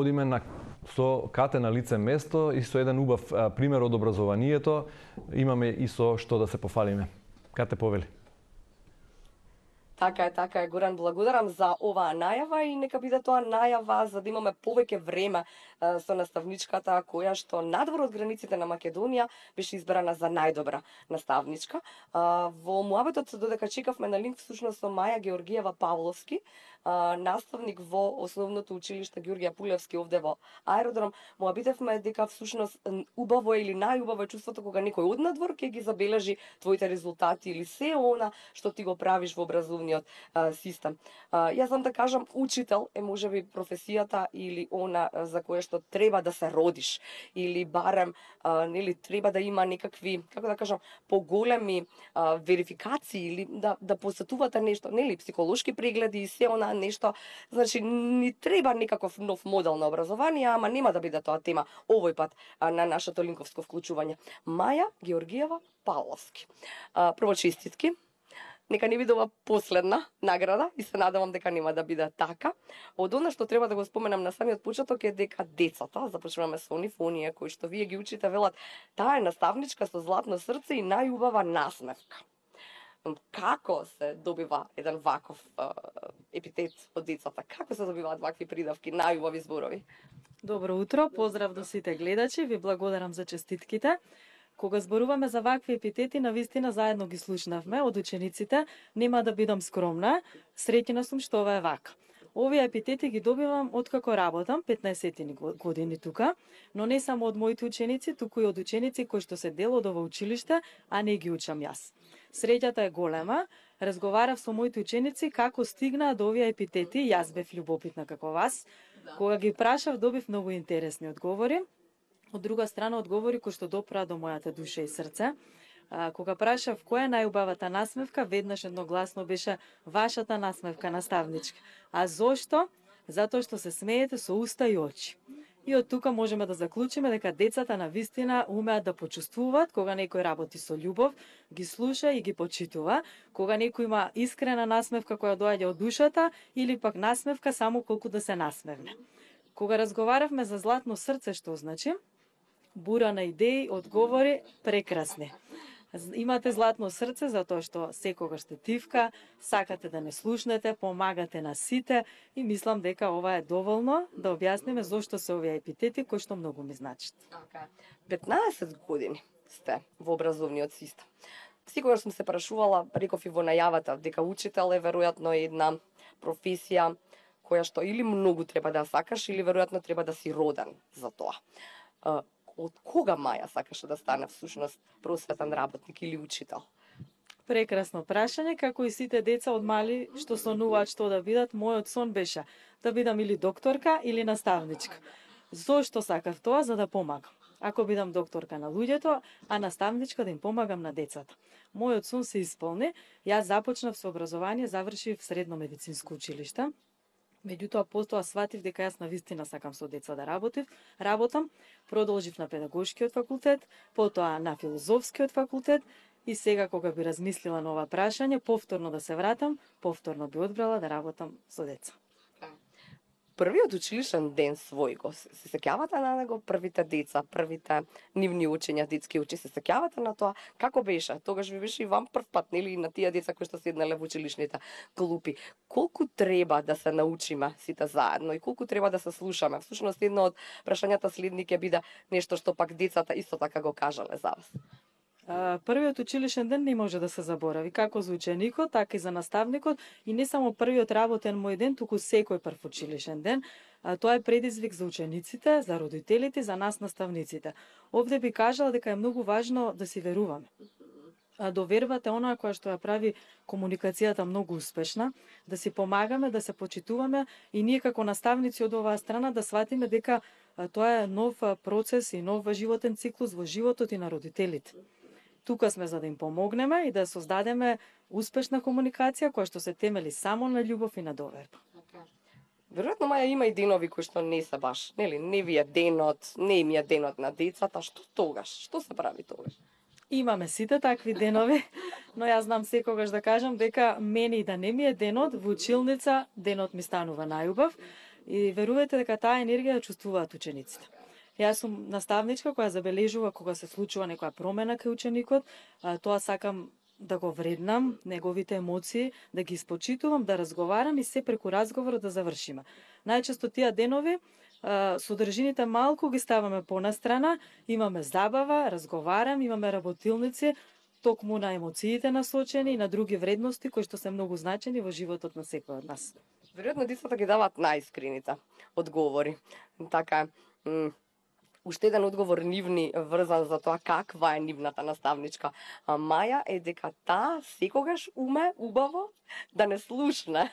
одиме со кате на лице место и со еден убав пример од образованието, имаме и со што да се пофалиме. Кате повели. Така е, Горан, благодарам за оваа најава и нека биде тоа најава за да имаме повеќе време со наставничката која што надвор од границите на Македонија беше избрана за најдобра наставничка. Во муабетот додека чекавме на линк всушност со Маја Георгиева Павловски, наставник во основното училиште Ѓурѓе Пулевски овде во Аеродром, му обидевме дека всушност убаво или најубаво е чувството кога некој однадвор ќе ги забележи твоите резултати или се она што ти го правиш во образовниот систем. Јас знам да кажам, учител е можеби професијата или она за кое што треба да се родиш или барем нели треба да има некакви, како да кажам, поголеми верификации или да посетувате нешто, нели психолошки прегледи и се она нешто. Значи ни треба некаков нов модел на образование, ама нема да биде тоа тема овој пат на нашето линковско вклучување. Маја Георгиева Павловски. Прво честитки. Нека не биде ова последна награда и се надевам дека нема да биде така. Од она што треба да го споменам на самиот почеток е дека децата, започнуваме со оние кои што вие ги учите, велат, таа е наставничка со златно срце и најубава насмевка. Како се добива еден ваков епитет од децата? Како се добиваат вакви придавки, најубави зборови? Добро утро, поздрав до сите гледачи, ви благодарам за честитките. Кога зборуваме за вакви епитети, навистина заедно ги слушнавме од учениците, нема да бидам скромна, среќна сум што ова е вака. Овие епитети ги добивам откако работам 15 години тука, но не само од моите ученици, туку и од ученици кои што се дел од ова училиште, а не ги учам јас. Среќата е голема, разговарав со моите ученици како стигнаа до овие епитети, јас бев љубопитна како вас. Кога ги прашав, добив многу интересни одговори. Од друга страна, одговори кои што допраа до мојата душа и срце. Кога прашав која е најубавата насмевка, веднаш едногласно беше вашата насмевка, наставничка. А зошто? Затоа што се смеете со уста и очи. И од тука можеме да заклучиме дека децата на вистина умеат да почувствуваат кога некој работи со љубов, ги слуша и ги почитува, кога некој има искрена насмевка која доаѓа од душата или пак насмевка само колку да се насмевне. Кога разговаравме за златно срце, што значи? Бура на идеи, одговори прекрасни. Имате златно срце затоа што секогаш сте тивка, сакате да не слушнете, помагате на сите и мислам дека ова е доволно да објасниме зошто се овие епитети кои што многу ми значат. 15 години сте во образовниот систем. Секогаш сум се прашувала, реков и во најавата, дека учител е веројатно една професија која што или многу треба да сакаш или веројатно треба да си роден за тоа. Од кога Маја сакаше да стане всушност просветен работник или учител? Прекрасно прашање, како и сите деца од мали што сонуваат што да бидат, мојот сон беше да бидам или докторка или наставничка. Зошто сакав тоа? За да помагам. Ако бидам докторка на луѓето, а наставничка да им помагам на децата. Мојот сон се исполни. Јас започнав со образование, завршив средно медицинско училиште. Меѓутоа, потоа сватив дека јас навистина сакам со деца да работам, продолжив на педагошкиот факултет, потоа на филозофскиот факултет и сега кога би размислила на ова прашање, повторно да се вратам, повторно би одбрала да работам со деца. Првиот училишен ден свој го се сеќавате на него, првите деца, првите нивни учења, детски учи, се сеќавате на тоа? Како беше? Тогаш ви беше и вам прв пат, нели, на тие деца кои што седнале во училишните клупи. Колку треба да се научиме сите заедно и колку треба да се слушаме? Всушност, едно од прашањата следни ќе биде нешто што пак децата исто така го кажале за вас. Првиот училишен ден не може да се заборави, како за ученикот, така и за наставникот, и не само првиот работен мој ден, туку секој прв училишен ден. Тоа е предизвик за учениците, за родителите, за нас наставниците. Овде би кажала дека е многу важно да си веруваме. Довербата е оноа која што ја прави комуникацијата многу успешна, да си помагаме, да се почитуваме и ние како наставници од оваа страна да сватиме дека тоа е нов процес и нов животен циклус во животот и на родителите. Тука сме за да им помогнеме и да создадеме успешна комуникација која што се темели само на љубов и на доверба. Веројатно, Маја, има и денови кои што не се баш, нели, не ви е денот, не им е денот на децата, што тогаш? Што се прави тогаш? Имаме сите такви денови, но јас знам секогаш да кажам дека мене и да не ми е денот, во училница денот ми станува најубав. И верувајте дека таа енергија ја чувствуваат учениците. Јас сум наставничка која забележува кога се случува некоја промена кај ученикот, тоа сакам да го вреднам, неговите емоции, да ги испочитувам, да разговарам и се преку разговорот да завршиме. Најчесто тие денови содржините малку ги ставаме понастрана, имаме забава, разговарам, имаме работилници, токму на емоциите насочени и на други вредности кои што се многу значени во животот на секој од нас. Веројатно децата ги даваат најискрените одговори. Така уште еден одговор нивни врзан за тоа каква е нивната наставничка Маја е дека таа секогаш уме убаво да не слушне.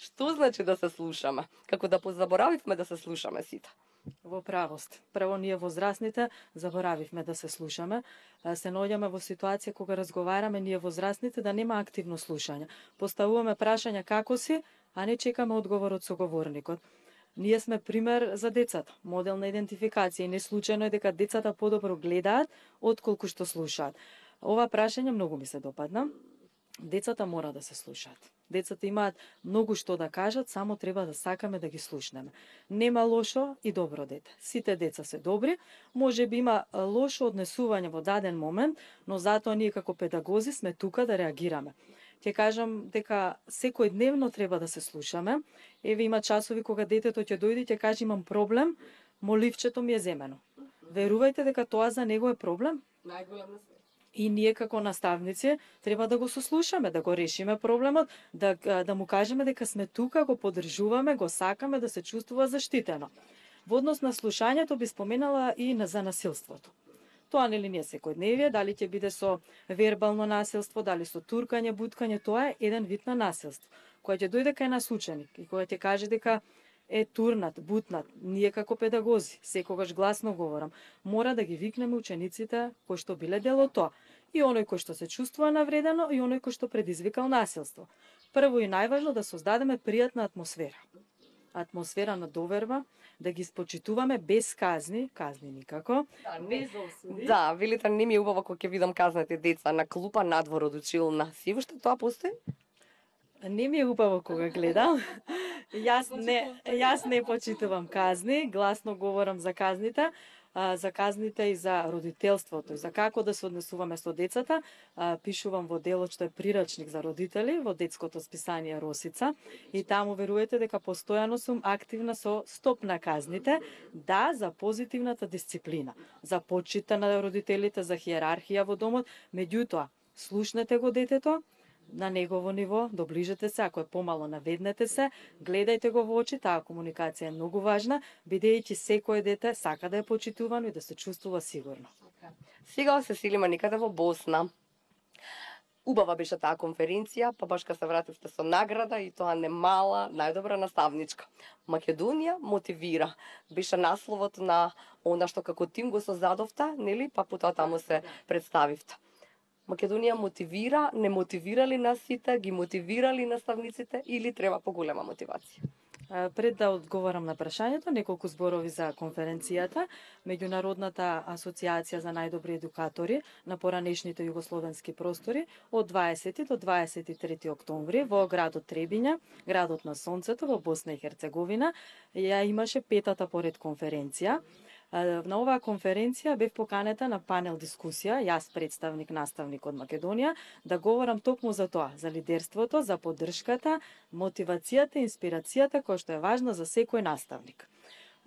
Што значи да се слушаме? Како да позаборавивме да се слушаме сите? Во правост. Прво ние возрастните заборавивме да се слушаме. Се наоѓаме во ситуација кога разговараме ние возрастните да нема активно слушање. Поставуваме прашања како си, а не чекаме одговор од соговорникот. Ние сме пример за децата, модел на идентификација и не случајно е дека децата подобро гледаат отколку што слушаат. Ова прашање многу ми се допадна. Децата мора да се слушаат. Децата имаат многу што да кажат, само треба да сакаме да ги слушнеме. Нема лошо и добро дете. Сите деца се добри, може би има лошо однесување во даден момент, но затоа ние како педагози сме тука да реагираме. Ќе кажам дека секојдневно треба да се слушаме. Еве има часови кога детето ќе дојде и ќе каже имам проблем, моливчето ми е земено. Верувајте дека тоа за него е проблем? Најголем на свет. И ние како наставници треба да го сослушаме, да го решиме проблемот, да му кажеме дека сме тука, го поддржуваме, го сакаме да се чувствува заштитено. Во однос на слушањето би споменала и за насилството. Тоа нели не е секојдневие, дали ќе биде со вербално насилство, дали со туркање, буткање, тоа е еден вид на насилство. Кој ќе дојде кај нас ученик и кој ќе каже дека е турнат, бутнат, ние како педагози, секогаш гласно говорам, мора да ги викнеме учениците кои што биле дел од тоа. И оној кој што се чувствува навредено и оној кој што предизвикал насилство. Прво и најважно да создадеме пријатна атмосфера. Атмосфера на доверба, да ги спочитуваме без казни никако, без осуди. Да, велите не ми е убаво кога ќе видам казните деца на клупа надвор од училна. Си уште тоа постои? Не ми е убаво кога гледам. Јас не почитувам казни, гласно говорам за казните и за родителството, и за како да се однесуваме со децата. Пишувам во делот што е прирачник за родители во детското списание Росица и таму верувате дека постојано сум активна со стоп на казните, да, за позитивната дисциплина, за почита на родителите, за хиерархија во домот, меѓутоа слушнете го детето, на негово ниво, доближете се, ако е помало наведнете се, гледајте го во очи, таа комуникација е многу важна, бидејќи секое дете сака да е почитувано и да се чувствува сигурно. Сега се селиме некаде во Босна. Убава беше таа конференција, па баш кога се вративте со награда и тоа не мала, најдобра наставничка. Македонија мотивира. Беше насловот на она што како тим го создадовте, нели, па потоа таму се представивте. Македонија мотивира, не мотивира ли нас сите, ги мотивира ли наставниците или треба поголема мотивација? Пред да одговорам на прашањето, неколку зборови за конференцијата. Меѓународната асоциација за најдобри едукатори на поранешните југословенски простори од 20 до 23 октомври во градот Требиња, градот на сонцето во Босна и Херцеговина, ја имаше петата поред конференција. На оваа конференција бев поканета на панел дискусија, јас представник наставник од Македонија, да говорам токму за тоа, за лидерството, за поддршката, мотивацијата и инспирацијата која што е важна за секој наставник.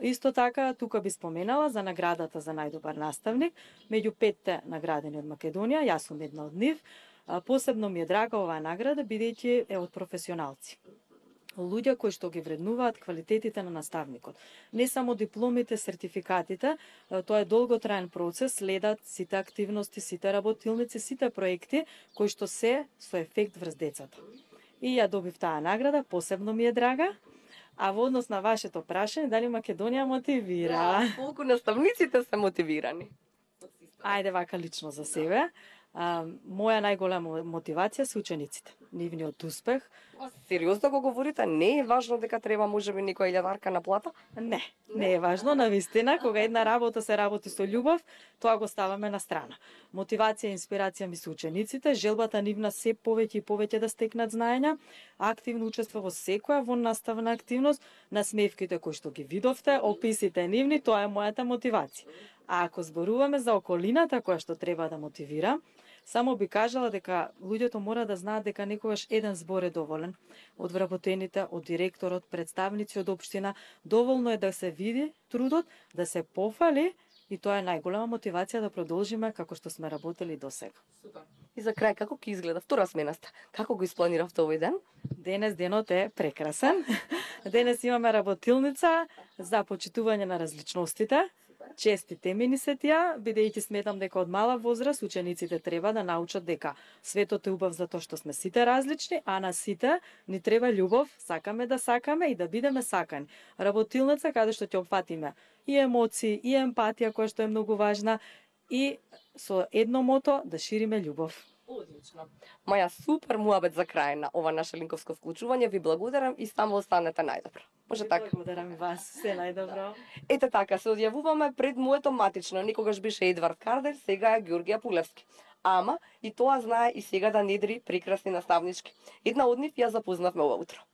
Исто така, тука би споменала за наградата за најдобар наставник, меѓу 5 наградени од Македонија, јас сум една од нив. Посебно ми е драга оваа награда, бидејќи е од професионалци. Луѓе кои што ги вреднуваат квалитетите на наставникот. Не само дипломите, сертификатите, тоа е долготраен процес, следат сите активности, сите работилници, сите проекти кои што се со ефект врз децата. И ја добив таа награда, посебно ми е драга. А во однос на вашето прашање, дали Македонија мотивира? Да, колку наставниците се мотивирани? Ајде вака лично за себе. Моја најголема мотивација се учениците. нивниот успех. Сериозно го говорите, не е важно дека треба можеби некоја илјадарка на плата? Не е важно, навистина, кога една работа се работи со љубов, тоа го ставаме на страна. Мотивација и инспирација ми се учениците, желбата нивна се повеќе и повеќе да стекнат знаења, активно учество во секоја во наставна активност, насмевките кои што ги видовте, описите нивни, тоа е мојата мотивација. А ако зборуваме за околината која што треба да мотивира, само би кажала дека луѓето мора да знаат дека некогаш еден збор е доволен. Од вработените, од директорот, представници од општина, доволно е да се види трудот, да се пофали и тоа е најголема мотивација да продолжиме како што сме работели досега. И за крај, како ќе изгледа втора сменаста? Како го испланиравте овој ден? Денес денот е прекрасен. Денес имаме работилница за почитување на различностите. Честите ми се тие, бидејќи сметам дека од мала возраст учениците треба да научат дека светот е убав затоа што сме сите различни, а на сите ни треба љубов, сакаме да сакаме и да бидеме сакани. Работилница каде што ќе опфатиме и емоции, и емпатија која што е многу важна и со едно мото да шириме љубов. Одлично. Маја, супер муабет за крај на ова наше линковско вклучување. Ви благодарам и само останете најдобро. Може така? Благодарам и вас. Се најдобро. Ете така, се одјавуваме пред моето матично. Некогаш беше Едвард Кардер, сега е Ѓоргија Пулевски. Ама и тоа знае и сега да недри прекрасни наставнички. Една од нив ја запознавме ова утро.